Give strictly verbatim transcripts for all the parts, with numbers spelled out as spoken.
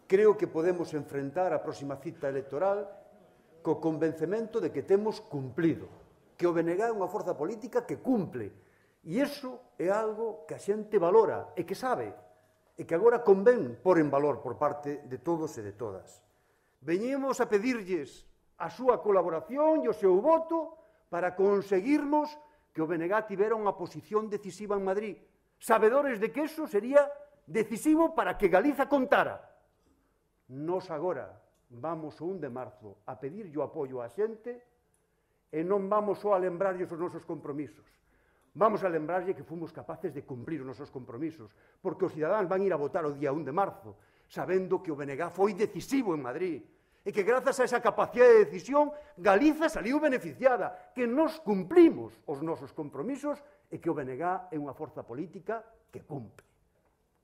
creo que podemos enfrentar a próxima cita electoral co convencemento de que temos cumplido, que o B N G é unha forza política que cumple. E iso é algo que a xente valora e que sabe, e que agora convén por en valor por parte de todos e de todas. Veñemos a pedirlles a súa colaboración e o seu voto para conseguirmos que o B N G tivera unha posición decisiva en Madrid, sabedores de que iso sería decisivo para que Galiza contara. Nos agora vamos o un de marzo a pedirlle o apoio á xente e non vamos só a lembrarlles os nosos compromisos. Vamos a lembrarlle que fomos capaces de cumprir os nosos compromisos, porque os cidadáns van ir a votar o día un de marzo, sabendo que o B N G foi decisivo en Madrid, e que grazas a esa capacidade de decisión Galiza saliu beneficiada, que nos cumplimos os nosos compromisos e que o B N G é unha forza política que cumpre.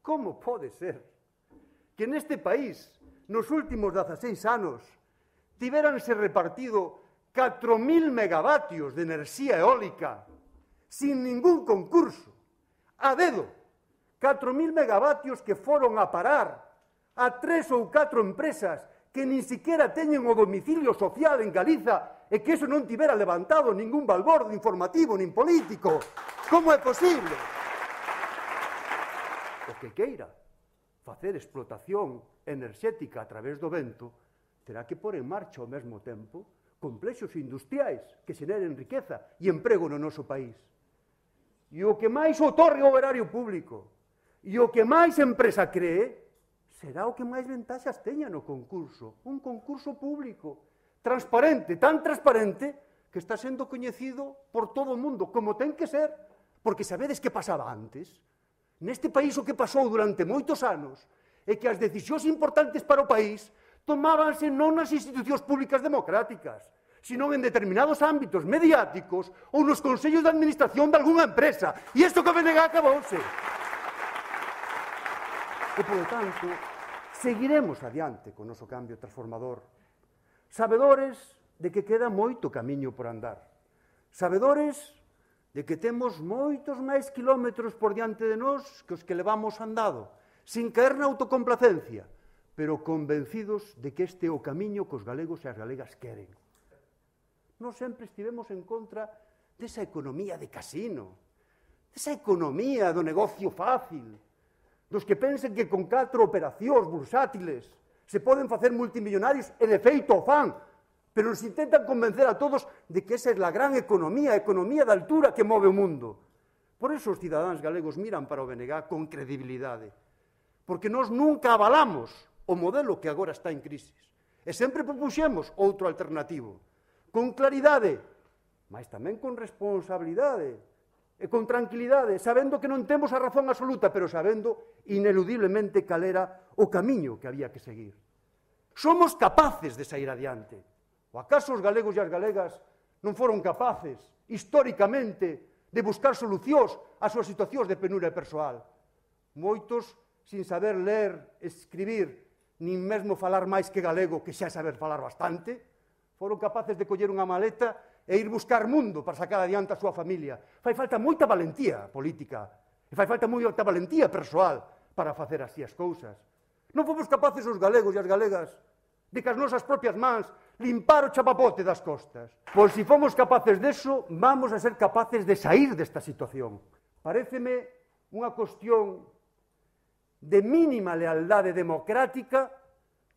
Como pode ser que neste país, nos últimos dezaseis anos, tiveranse repartido catro mil megavatios de enerxía eólica sin ningún concurso, a dedo, catro mil megavatios que foron a parar a tres ou catro empresas que nin siquiera teñen o domicilio social en Galiza e que iso non tivera levantado ningún balbordo informativo nin político. Como é posible? O que queira facer explotación enerxética a través do vento terá que pôr en marcha ao mesmo tempo complexos industriais que xeneren riqueza e emprego no noso país. E o que máis otorgue o erario público e o que máis empresa cree será o que máis ventaxas teña no concurso. Un concurso público, transparente, tan transparente que está sendo coñecido por todo o mundo, como ten que ser, porque sabedes que pasaba antes. Neste país o que pasou durante moitos anos é que as decisións importantes para o país tomábanse non nas institucións públicas democráticas, sino en determinados ámbitos mediáticos ou nos consellos de administración de algunha empresa. E isto que o B N G acabouse. E, por tanto, seguiremos adiante con o noso cambio transformador, sabedores de que queda moito camiño por andar, sabedores de que temos moitos máis kilómetros por diante de nós que os que levamos andado, sin caer na autocomplacencia, pero convencidos de que este é o camiño que os galegos e as galegas queren. Nós sempre estivemos en contra desa economía de casino, desa economía do negocio fácil, dos que pensen que con catro operacións bursátiles se poden facer multimillonarios e de feito o fan, pero nos intentan convencer a todos de que esa é a gran economía, a economía de altura que move o mundo. Por eso os cidadáns galegos miran para o B N G con credibilidade, porque nós nunca avalamos o modelo que agora está en crisis, e sempre propuxemos outro alternativo, con claridade, mas tamén con responsabilidade, e con tranquilidade, sabendo que non temos a razón absoluta, pero sabendo ineludiblemente cal era o camiño que había que seguir. Somos capaces de sair adiante. O acaso os galegos e as galegas non foron capaces, históricamente, de buscar solucións ás súas situacións de penuria persoal? Moitos, sin saber ler, escribir, nin mesmo falar máis que galego, que xa saber falar bastante, foron capaces de coller unha maleta e ir buscar mundo para sacar adiante a súa familia. Fai falta moita valentía política, e fai falta moita valentía persoal para facer así as cousas. Non fomos capaces os galegos e as galegas de que as nosas propias mans limpar o chapapote das costas. Pois se fomos capaces deso, vamos a ser capaces de sair desta situación. Paréceme unha cuestión de mínima lealdade democrática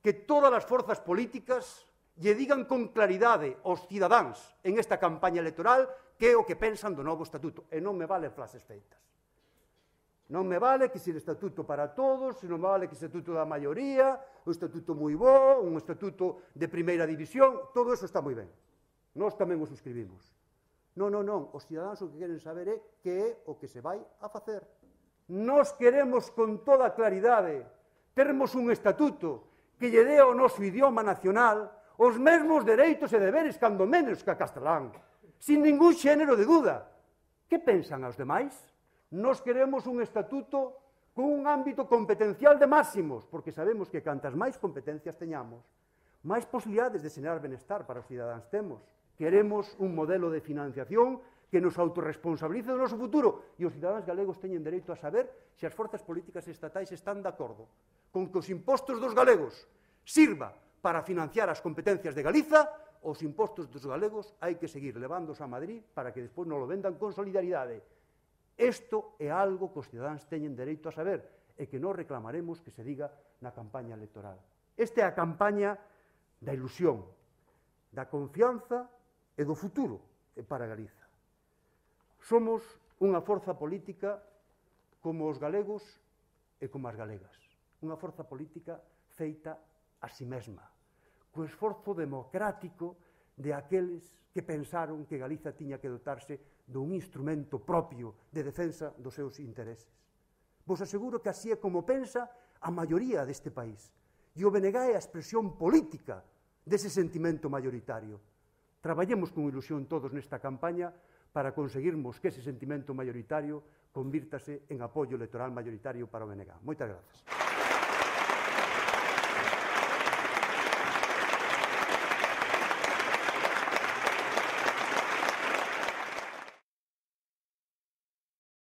que todas as forzas políticas lle digan con claridade aos cidadáns en esta campaña electoral que é o que pensan do novo estatuto. E non me vale frases feitas. Non me vale que se o estatuto para todos, non me vale que o estatuto da maioría, un estatuto moi bo, un estatuto de primeira división, todo eso está moi ben. Nós tamén o suscribimos. Non, non, non, os cidadáns o que queren saber é que é o que se vai a facer. Nós queremos con toda claridade termos un estatuto que lle dé ao noso idioma nacional os mesmos dereitos e deberes cando menos que a castelán, sin ningún xénero de duda. Que pensan aos demais? Nós queremos un estatuto con un ámbito competencial de máximos, porque sabemos que cantas máis competencias teñamos, máis posibilidades de xenerar benestar para os cidadáns temos. Queremos un modelo de financiación que nos autorresponsabilice do noso futuro, e os cidadáns galegos teñen dereito a saber se as forzas políticas estatais están de acordo con que os impostos dos galegos sirva para financiar as competencias de Galiza, os impostos dos galegos hai que seguir levándos a Madrid para que despois non lo vendan con solidaridade. Isto é algo que os cidadáns teñen dereito a saber e que non reclamaremos que se diga na campaña electoral. Esta é a campaña da ilusión, da confianza e do futuro para Galiza. Somos unha forza política como os galegos e como as galegas. Unha forza política feita a si mesma, co esforzo democrático de aqueles que pensaron que Galiza tiña que dotarse dun instrumento propio de defensa dos seus intereses. Vos aseguro que así é como pensa a maioría deste país. E o B N G é a expresión política dese sentimento mayoritario. Traballemos con ilusión todos nesta campaña para conseguirmos que ese sentimento mayoritario convírtase en apoio electoral mayoritario para o B N G. Moitas grazas.